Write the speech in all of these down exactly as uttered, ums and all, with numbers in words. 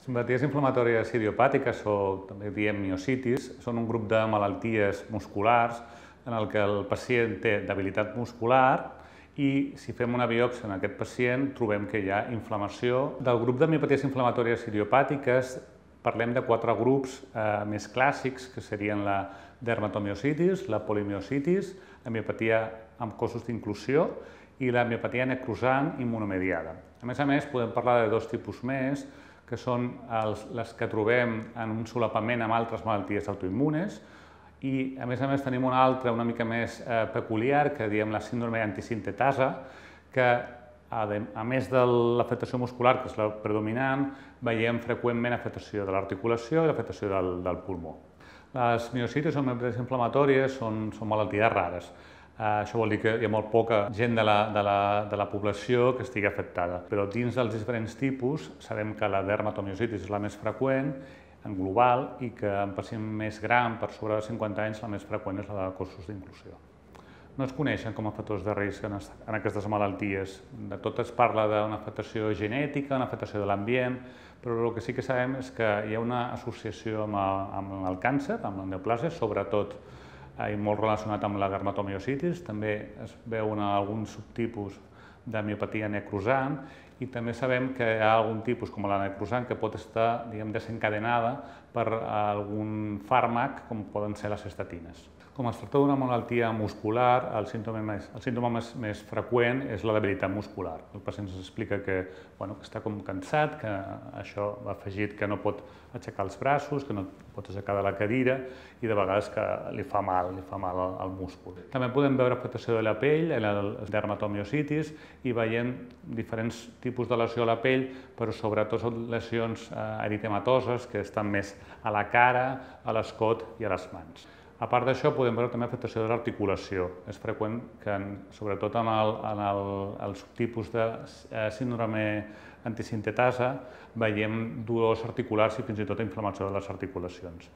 Simpaties inflamatòries idiopàtiques, o també diem miositis, són un grup de malalties musculars en el que el pacient té debilitat muscular i si fem una biòpsia en aquest pacient trobem que hi ha inflamació. Del grup de miopaties inflamatòries idiopàtiques parlem de quatre grups eh, més clàssics, que serien la dermatomiositis, la polimiositis, la miopatia amb cossos d'inclusió i la miopatia necrosant immunomediada. A més a més, podem parlar de dos tipus més, que són els, les que trobem en un solapament amb altres malalties autoimmunes, i a més a més tenim una altra una mica més eh, peculiar, que diem la síndrome antisintetasa, que a, de, a més de l'afectació muscular, que és la predominant, veiem freqüentment afectació de l'articulació i l'afectació del, del pulmó. Les miositis o miopaties inflamatòries són, són malalties rares. Uh, això vol dir que hi ha molt poca gent de la, de, la, de la població que estigui afectada. Però dins dels diferents tipus sabem que la dermatomiositis és la més freqüent en global i que en pacient més gran, per sobre de cinquanta anys, la més freqüent és la de cossos d'inclusió. No es coneixen com a factors de risc en, en aquestes malalties. De tot es parla d'una afectació genètica, una afectació de l'ambient, però el que sí que sabem és que hi ha una associació amb el, amb el càncer, amb la neoplàsia, sobretot i molt relacionat amb la dermatomiositis, també es veuen alguns subtipus de miopatia necrosant i també sabem que hi ha algun tipus, com la necrosant, que pot estar diguem, desencadenada per algun fàrmac, com poden ser les estatines. Com es tracta d'una malaltia muscular, el símptoma, més, el símptoma més, més freqüent és la debilitat muscular. El pacient ens explica que, bueno, que està com cansat, que això va afegit que no pot aixecar els braços, que no pot aixecar de la cadira i de vegades que li fa mal, li fa mal al, al múscul. També podem veure afectació de la pell, la dermatomiositis, i veiem diferents tipus de lesió a la pell, però sobretot són lesions eh, eritematoses que estan més a la cara, a l'escot i a les mans. A part d'això, podem veure també afectació de l'articulació. És freqüent que, sobretot en el, en el, el subtipus de síndrome antisintetasa, veiem dolors articulars i fins i tot inflamació de les articulacions.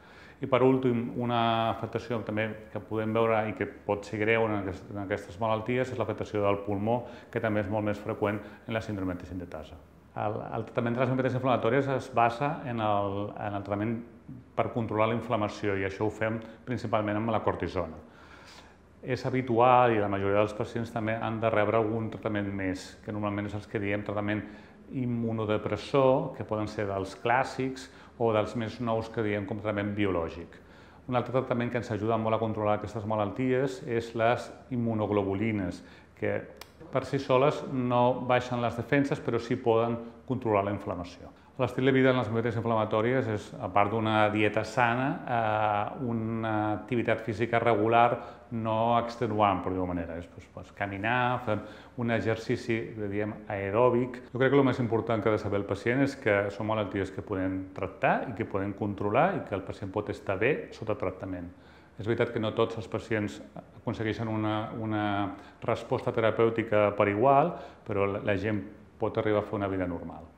I per últim, una afectació també que podem veure i que pot ser greu en aquestes malalties és l'afectació del pulmó, que també és molt més freqüent en la síndrome antisintetasa. El, el tractament de les miopaties inflamatòries es basa en el, en el tractament per controlar la inflamació i això ho fem principalment amb la cortisona. És habitual i la majoria dels pacients també han de rebre algun tractament més, que normalment és els que diem tractament immunodepressor, que poden ser dels clàssics o dels més nous que diem com tractament biològic. Un altre tractament que ens ajuda molt a controlar aquestes malalties és les immunoglobulines, que per si soles no baixen les defenses, però sí poden controlar la inflamació. L'estil de vida en les miopaties inflamatòries és, a part d'una dieta sana, eh, una activitat física regular no extenuant, per dir-ho manera. És pues, pues, caminar, fer un exercici diguem, aeròbic. Jo crec que el més important que ha de saber el pacient és que són malalties que podem tractar i que podem controlar i que el pacient pot estar bé sota tractament. És veritat que no tots els pacients aconsegueixen una, una resposta terapèutica per igual, però la gent pot arribar a fer una vida normal.